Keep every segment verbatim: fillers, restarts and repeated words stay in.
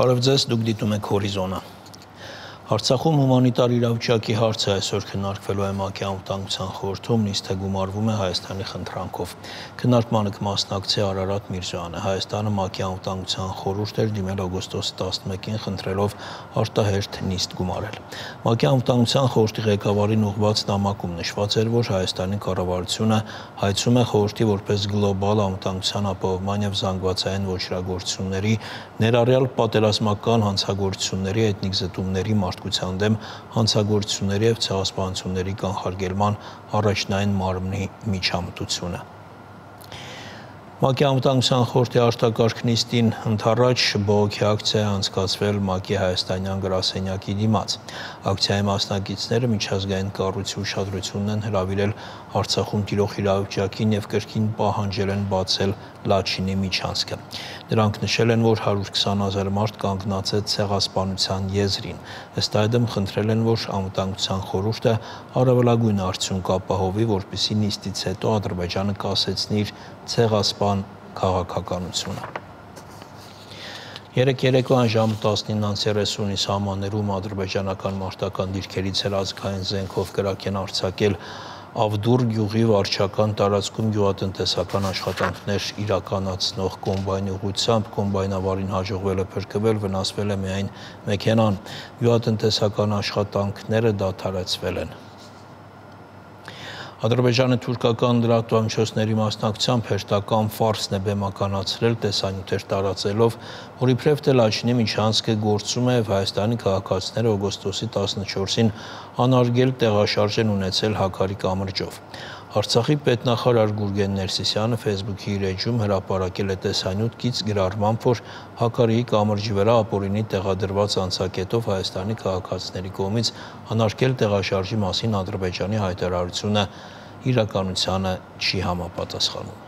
Բարև ձեզ, դուք դիտում եք Հորիզոնը։ Արցախում հումանիտար իրավիճակի հարցը այսօր քննարկվելու է ՄԱԿ-ի անվտանգության խորհրդում, նիստը գումարվում է Հայաստանի խնդրանքով։ Քննարկմանը կմասնակցի Արարատ Միրզոյանը։ Հայաստանը ՄԱԿ-ի անվտանգության խորհուրդ էր դիմել օգոստոսի տասնմեկին խնդրելով արտահերթ նիստ գումարել։ ՄԱԿ-ի անվտանգության խորհրդի ղեկավարին ուղղված նամակում նշված էր, որ Հայաստանի կառավարությունը հայցում է խորհրդի որպես գլոբալ անվտանգության ապահովման և զանգվածային ոճրագործությունների, ներառյալ պատերազմական հանցագործությունների, էթնիկ զտումների, մարդկության դեմ հանցագործությունների և ցեղասպանությունների կանխարգելման առաջնային մարմնի միջամտությունը։ ՄԱԿ-ի անվտանգության խորհրդի արտակարգ նիստին ընդառաջ բողոքի ակցիա է անցկացվել ՄԱԿ-ի հայաստանյան գրասենյակի դիմաց։ Ակցիայի մասնակիցները միջազգային կառույցի ուշադրությունն են հրավիրել Արցախում տիրող իրավիճակին և կրկին պահանջել են բացել Լաչինի միջանցքը։ Նրանք նշել են, որ հարյուր քսան հազար մարդ կանգնած է ցեղասպանության եզրին։ Ըստ այդմ խնդրել են, որ անվտանգության խորհուրդը առավելագույն արդյունք ապահովի, որպեսզի նիստից հետո Ադրբեջանը կասեցնի իր ցեղասպան քաղաքականությունը։ Երեկ երեկոյան ժամը տասնինը երեսունի սահմաններում ադրբեջանական մարտական դիրքերից հրաձգային զենքով կրակ են արձակել Ավդուր գյուղի վարչական տարածքում գյուղատնտեսական աշխատանքներ իրականացնող կոմբայնի ուղղությամբ կոմբայնավարին հաջողվել է փրկվել, վնասվել է միայն մեքենան։ Գյուղատնտեսական աշխատանքները դադարեցվել են։ Ադրբեջանը թուրքական լրատվամիջոցների մասնակցությամբ հերթական ֆարսն է բեմականացրել, տեսանյութեր տարածելով, որ իբրև թե Լաչինի միջանցքը գործում է և Հայաստանի քաղաքացիները օգոստոսի տասնչորսին անարգել տեղաշարժ են ունեցել Հաքարի կամրջով։ Արցախի պետնախարար Գուրգեն Ներսիսյանը Facebook-ի իր էջում հրապարակել է տեսանյութ կից գրառմամբ, որ Հաքարիի կամրջի վրա ապօրինի տեղադրված անցակետով Հայաստանի քաղաքացիների կողմից անարգել տեղաշարժի մասին Ադրբեջանի հայտարարությունը իրականությանը չի համապատասխանում։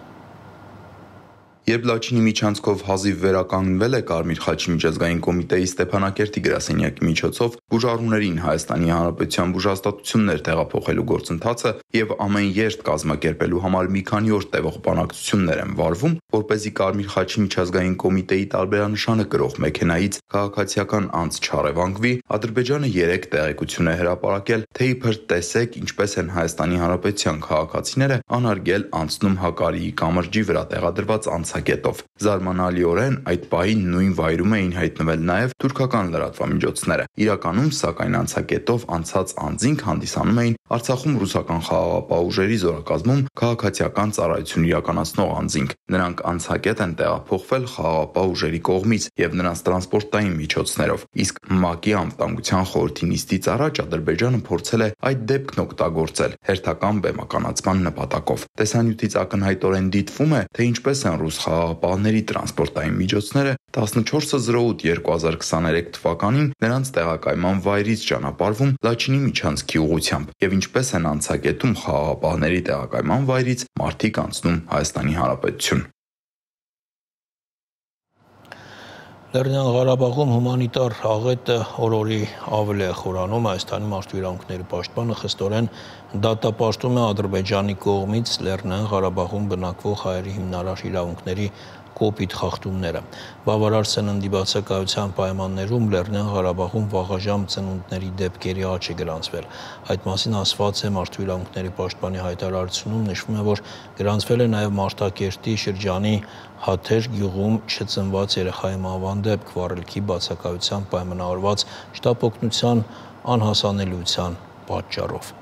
Երբ Լաչինի միջանցքով հազիվ վերականգնվել է Կարմիր խաչի միջազգային կոմիտեի Ստեփանակերտի գրասենյակի միջոցով բուժառուներին Հայաստանի Հանրապետության բուժհաստատություններ տեղափոխելու գործընթացը եւ ամեն երթ կազմակերպելու համար մի քանի օր տևող բանակցություններ են վարվում, որպեսզի Կարմիր խաչի միջազգային կոմիտեի տարբերանշանը կրող մեքենայից քաղաքացիական անձ չառևանգվի, Ադրբեջանը երեք տեղեկություն է հրապարակել, թե իբր տեսեք ինչպես են Հայաստանի Հանրապետության քաղաքացիները անարգել անցնում Հակարիի կամրջի վրա տեղադրված անցակետով։ Զարմանալիորեն այդ պահին նույն վայրում էին հայտնվել նաև թուրքական լրատվամիջոցները։ Իրականում, սակայն, անցակետով անցած անձինք հանդիսանում էին Արցախում ռուսական խաղաղապահ ուժերի զորակազմում քաղաքացիական ծառայություն իրականացնող անձինք։ Նրանք անցակետ են տեղափոխվել խաղաղապահ ուժերի կողմից եւ նրանց տրանսպորտային միջոցներով։ Իսկ ՄԱԿ-ի անվտանգության խորհրդի նիստից առաջ Ադրբեջանը փորձել է այդ դեպքն օգտագործել հերթական բեմականացման նպատակով։ Տեսանյութից ակնհայտորեն դիտվում է, թե ինչպես են ռուս խաղաղապահների տրանսպորտային միջոցները տասնչորսը զրո ութ երկու հազար քսաներեք թվականին նրանց տեղակայման վայրից ճանապարհվում Լաչինի միջանցքի ուղղությամբ եւ ինչպես են անցակետում խաղաղապահների տեղակայման վայրից մարդիկ անցնում Հայաստանի Հանրապետություն։ Լեռնային Ղարաբաղում հումանիտար աղետը օր-օրի ավելի է խորանում։ Հայաստանի մարդու իրավունքների պաշտպանը խստորեն դատապարտում է Ադրբեջանի կողմից Լեռնային Ղարաբաղում բնակվող հայերի հիմնարար իրավունքների կոպիտ խախտումները։ Բավարար սննդի բացակայության պայմաններում Լեռնային Ղարաբաղում վաղաժամ ծնունդների դեպքերի աճ է գրանցվել։ Այդ մասին ասված է մարդու իրավունքների պաշտպանի հայտարարությունում, նշվում է, որ գրանցվել է նաև Մարտակերտի շրջանի Հաթեր գյուղում չծնված երեխայի մահվան դեպք վառելքի բացակայության պայմանավորված շտապօգնության անհասանելիության պատճառով։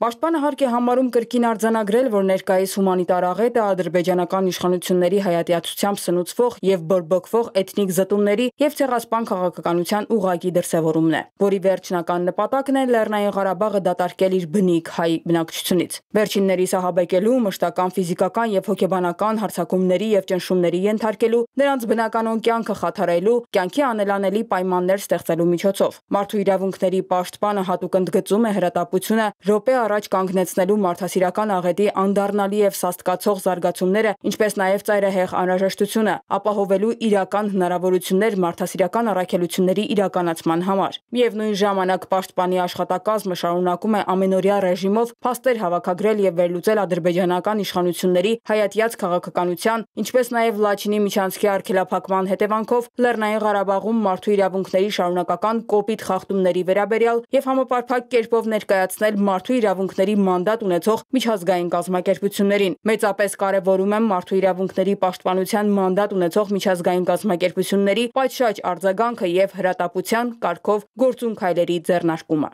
Պաշտպանը հարկ է համարում կրկին արձանագրել, որ ներկայիս հումանիտար աղետը ադրբեջանական իշխանությունների հայատյացությամբ սնուցվող եւ բորբոքվող էթնիկ զտումների եւ ցեղասպան քաղաքականության ուղղակի դրսեւորումն է, որի վերջնական նպատակն է Լեռնային Ղարաբաղը դատարկել իր բնիկ հայ բնակչությունից։ Վերջիններիս ահաբեկելու, մշտական ֆիզիկական եւ հոգեբանական հարձակումների եւ ճնշումների ենթարկելու, նրանց բնականon կյանքը խաթարելու, կյանքի անելանելի պայմաններ ստեղծելու միջոցով։ Մարդու իրավունքների պաշտպանը հատուկ ընդգծում է հրատապությունը րոպե առաջ կանգնեցնելու մարդասիրական աղետի անդառնալի եւ սաստկացող զարգացումները, ինչպես նաեւ ծայրահեղ անհրաժեշտությունը ապահովելու իրական հնարավորություններ մարդասիրական առաքելությունների իրականացման համար։ Միևնույն ժամանակ պաշտպանի աշխատակազմը շարունակում է ամենօրյա ռեժիմով փաստեր հավաքագրել եւ վերլուծել ադրբեջանական իշխանությունների հայատյաց քաղաքականության, ինչպես նաեւ Լաչինի միջանցքի արգելափակման հետևանքով Լեռնային Ղարաբաղում մարդու իրավունքների շարունակական կոպիտ խախտումների վերաբերյալ եւ համապարփակ կերպով ներկայացնել մարդու իրավունքների մանդատ ունեցող միջազգային կազմակերպություններին։ Մեծապես կարեւորում եմ մարդու իրավունքների պաշտպանության մանդատ ունեցող միջազգային կազմակերպությունների պատշաճ արձագանքը եւ հրատապության կարգով գործուն քայլերի ձեռնարկումը։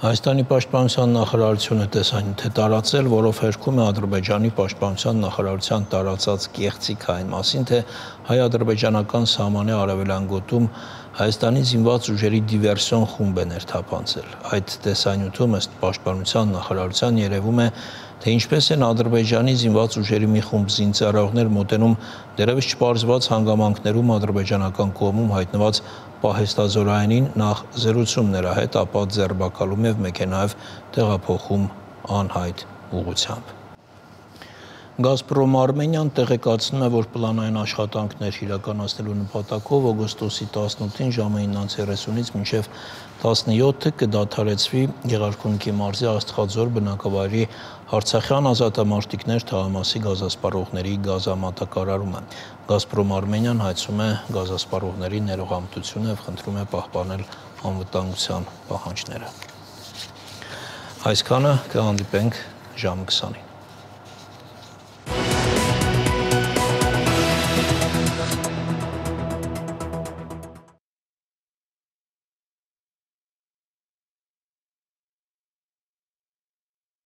Հայաստանի պաշտպանության նախարարությունը տեսանյութ է տարածել, որով հերքում է Ադրբեջանի պաշտպանության նախարարության տարածած կեղծիք այն մասին, թե հայ-ադրբեջանական սահմանի արևելյան գոտում Հայաստանի զինված ուժերի դիվերսիոն խումբ է ներթափանցել։ Այդ տեսանյութում ըստ պաշտպանության նախարարության երևում է, թե ինչպես են Ադրբեջանի զինված ուժերի մի խումբ զինծառայողներ մոտենում դեռևս չպարզված հանգամանքներում ադրբեջանական կողմում հայտնված պահեստազորայինին նախ զրուցում նրա հետ, ապա ձերբակալում եւ մեքենայով տեղափոխում անհայտ ուղղությամբ։ Գազպրոմ Արմենիան տեղեկացնում է, որ պլանային աշխատանքներ իրականացնելու նպատակով օգոստոսի տասնութին ժամը իննից երեսունից մինչև տասնյոթը կդադարեցվի Գեղարքունիքի մարզի Աստղաձոր բնակավայրի Արցախյան ազատամարտիկներ թաղամասի գազասպառողների գազամատակարարումը։ Գազպրոմ Արմենիան հայցում է գազասպառողների ներողամտությունը եւ խնդրում է պահպանել անվտանգության պահանջները։ Այսքանը կհանդիպենք ժամը քսանին։